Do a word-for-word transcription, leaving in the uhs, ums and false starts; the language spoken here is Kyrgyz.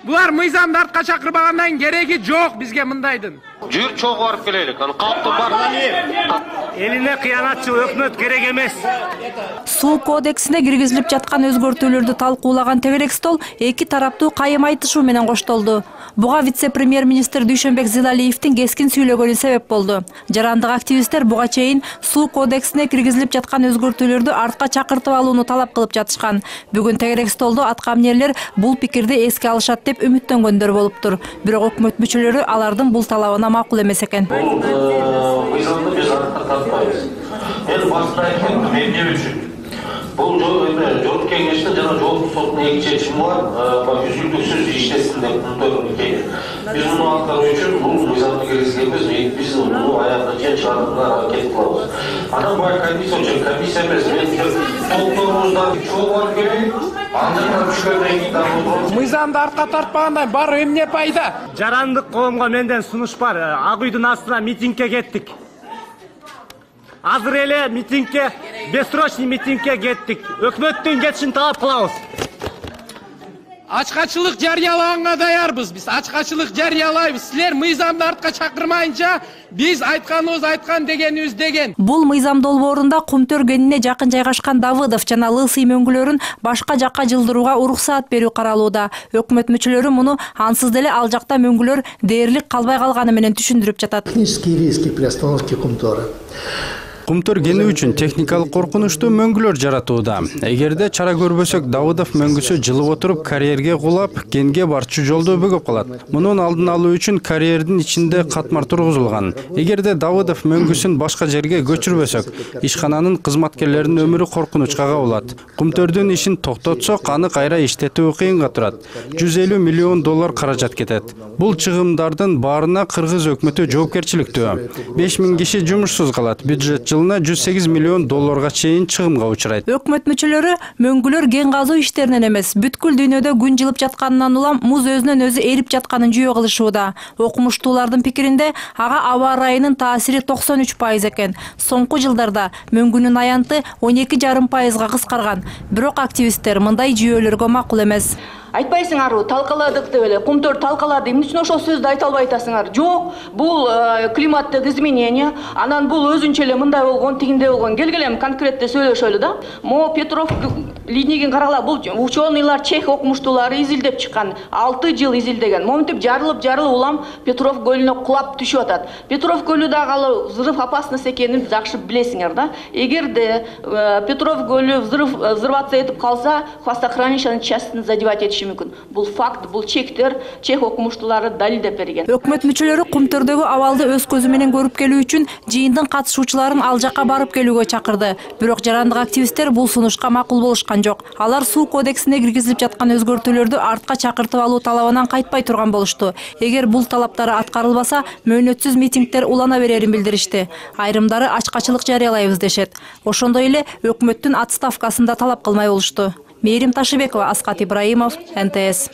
Булар мыйзамды артка чакырбагандан кереги жок бизге мындайдын. Жүр чогуу барып келелик. Аны калпты бар. Элине кыянатчыл өкмөт керек эмес. Суу кодексине киргизилип жаткан өзгөртүүлөрдү талкуулаган тегерек стол эки тараптуу кайым айтышуу менен коштолду. Буга вице-премьер-министр Дүйшөнбек Зилалиевдин кескин сүйлөгөнү себеп болду. Жарандык активисттер буга чейин суу кодексине киргизилип жаткан өзгөртүүлөрдү артка чакыртып алууну талап кылып жатышкан. Бүгүн тегерек столдо аткаминерлер бул пикирди эске алышат деп үмүттөнгөндөр болуптур. Бирок өкмөт мүчөлөрү алардын бул талабына макул эмес экен. Мен башта айттым, эмне үчүн? Бул жол кеңеште жана жол сотунун эки чечими бар, үзүлдүксүз иштесин деп мындай. Биз муну аткаруу үчүн бул мыйзамды киргизгенбиз, биз муну аягына чейин чыгарууга аракет кылабыз. Анан бул комиссия үчүн комиссия эмес, толтурубуздан чогуу барып келейик. Мыйзамды артка тартпагандан бар эмне пайда? Жарандык коомго менден сунуш бар. Ак үйдүн астына митингге кеттик. Азыр эле митингге, бессрочный митингге кеттик. Өкмөттүн кетишин талап кылабыз. Ачкачылык жарыялаганга даярбыз. Биз ачкачылык жарыялайбыз. Силер мыйзамды артка чакырмайынча биз айтканыбыз айткан дегенибиз деген. Бул мыйзам долбоорунда Кумтөр кенине жакын жайгашкан Давыдов жана Лысый мөңгүлөрүн башка жакка жылдырууга уруксаат берүү каралууда. Өкмөт мүчөлөрү муну ансыз деле ал жакта мөңгүлөр дээрлик калбай калганы менен түшүндүрүп жатат. Технические риски при остановке Кумтора. Кумтөр кени үчүн техникалык коркунучтуу мөңгүлөр жаратууда. Эгерде чара көрбөсөк, Давыдов мөңгүсү жылып отуруп карьерге кулап, кенге барчу жолду бөгөп калат. Мунун алдын алуу үчүн карьердин ичинде катмар тургузулган. Эгерде Давыдов мөңгүсүн башка жерге көчүрбөсөк, ишкананын кызматкерлеринин өмүрү коркунучка кабылат. Кумтөрдүн ишин токтотсок, аны кайра иштетүү кыйынга турат. жүз элүү миллион доллар каражат кетет. Бул чыгымдардын баарына кыргыз өкмөтү жоопкерчиликтүү. беш миң киши жумушсуз калат. Бюджет жылына жүз сегиз миллион долларга чейин чыгымга учурайт. Өкмөт мүчөлөрү мөңгүлөр кен казуу иштеринен эмес, бүткүл дүйнөдө күн жылып жатканынан улам муз өзүнөн өзү эрип жатканын жүйө кылышууда. Окумуштуулардын пикиринде ага аба ырайынын таасири токсон үч пайыз экен. Соңку жылдарда мөңгүнүн аянты он эки жарым пайызга кыскарган. Бирок активисттер мындай жүйөлөргө макул эмес. Айтпайсыңарбы, талкаладык деп эле, Кумтөр талкалады, эмне үчүн ошол сөздү айта албай атасыңар? Жок, бул климаттык изменение, анан бул өзүнчө эле мындай болгон, тигинде болгон. Келгилем конкретте сөйлөшөлү да. Мо Петров линейген карала, бул ученыйлар, чех окумуштуулары изилдеп чыккан, алты жыл изилдеген. Моминтип жарылып жарылып улам Петров көлүнө кулап түшүп атат. Петров көлү дагы взрыв опасность экенин жакшы билесиңер да. Эгерде Петров көлү взрыв взрываться этип калса, хвостохранилищенын частин задевать этиши мүмкүн. Бул факт, бул чектер чех окумуштуулары далилдеп берген. Өкмөт мүчөлөрү Кумтөрдөгү абалды өз көзү менен көрүп келүү үчүн жыйындын катышуучуларын ал жакка барып келүүгө чакырды. Бирок жарандык активисттер бул сунушка макул болушкан жок. Алар суу кодексине киргизилип жаткан өзгөртүүлөрдү артка чакыртып алуу талабынан кайтпай турган болушту. Эгер бул талаптары аткарылбаса, мөөнөтсүз митингдер улана берерин билдиришти. Айрымдары ачкачылык жарыялайбыз дешет. Ошондой эле өкмөттүн отставкасын да талап кылмай болушту. Мээрим Ташыбекова, Аскат Ибраимов, эн тэ эс.